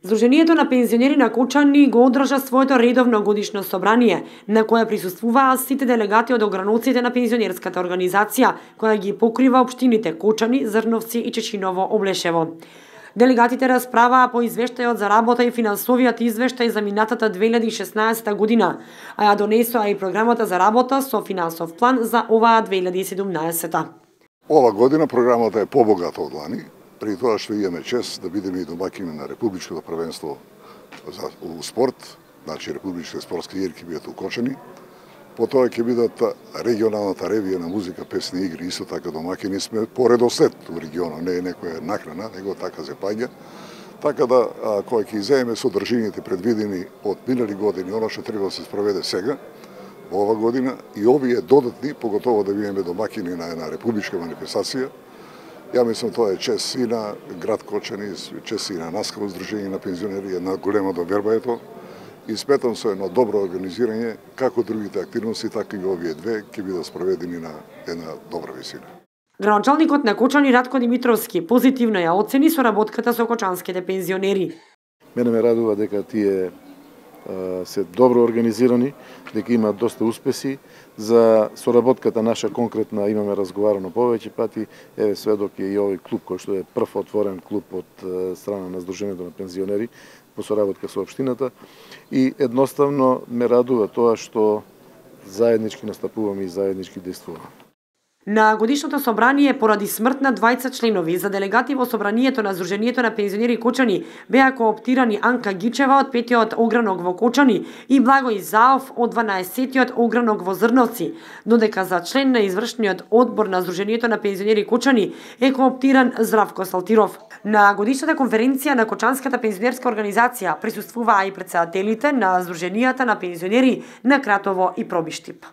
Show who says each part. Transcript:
Speaker 1: Сдруженијето на пензионери на Кочани го одржа своето редовно годишно собрание, на кое присуствуваа сите делегати од ограноците на пензионерската организација, која ги покрива општините Кочани, Зрновци и Чечиново Облешево. Делегатите расправаа по извештајот за работа и финансовиот извештај за минатата 2016 година, а ја донесоа и програмата за работа со финансов план за оваа 2017.
Speaker 2: Ова година програмата е побогата од лани, при тоа што имаме чест да бидеме и домакини на Републичкото првенство за спорт, значи Републичките спортски игри ќе бидат укочени. Потоа ќе бидат регионалната ревија на музика, песни и игри, исто така домакини сме по редослед во регионот, не е некоја накрана, него така се паѓа. Така да, кога ќе иземеме содржините предвидени од минали години, оно што треба да се спроведе сега, во ова година, и овие додатни, поготово да бидеме домакини на една републичка манифестација, ја мислам тоа е чест и на град Кочани, чест и на нас како Сдружение на пензионери, една голема доверба е тоа. И сметам со едно добро организирање, како другите активности, така и овие две ќе бидат спроведени на една добра висина.
Speaker 1: Градоначалникот на Кочани Ратко Димитровски позитивно ја оцени соработката со кочанските пензионери.
Speaker 3: Мене ме радува дека тие се добро организирани, дека имаат доста успеси. За соработката наша конкретна имаме разговарано повеќе пати, еве сведок е и овој клуб кој што е прв отворен клуб од страна на Сдруженијето на пензионери по соработка со општината, и едноставно ме радува тоа што заеднички настапуваме и заеднички действуваме.
Speaker 1: На годишното собрание поради смрт на двајца членови за делегати во собранието на Сдруженијето на пензионери Кочани беа кооптирани Анка Гичева од 5-тиот огранок во Кочани и Благој Заов од 12-тиот огранок во Зрновци, додека за член на извршниот одбор на Сдруженијето на пензионери Кочани е кооптиран Здравко Салтиров. На годишната конференција на Кочанската пензионерска организација присуствуваа и претседателите на Сдруженијата на пензионери на Кратово и Пробиштип.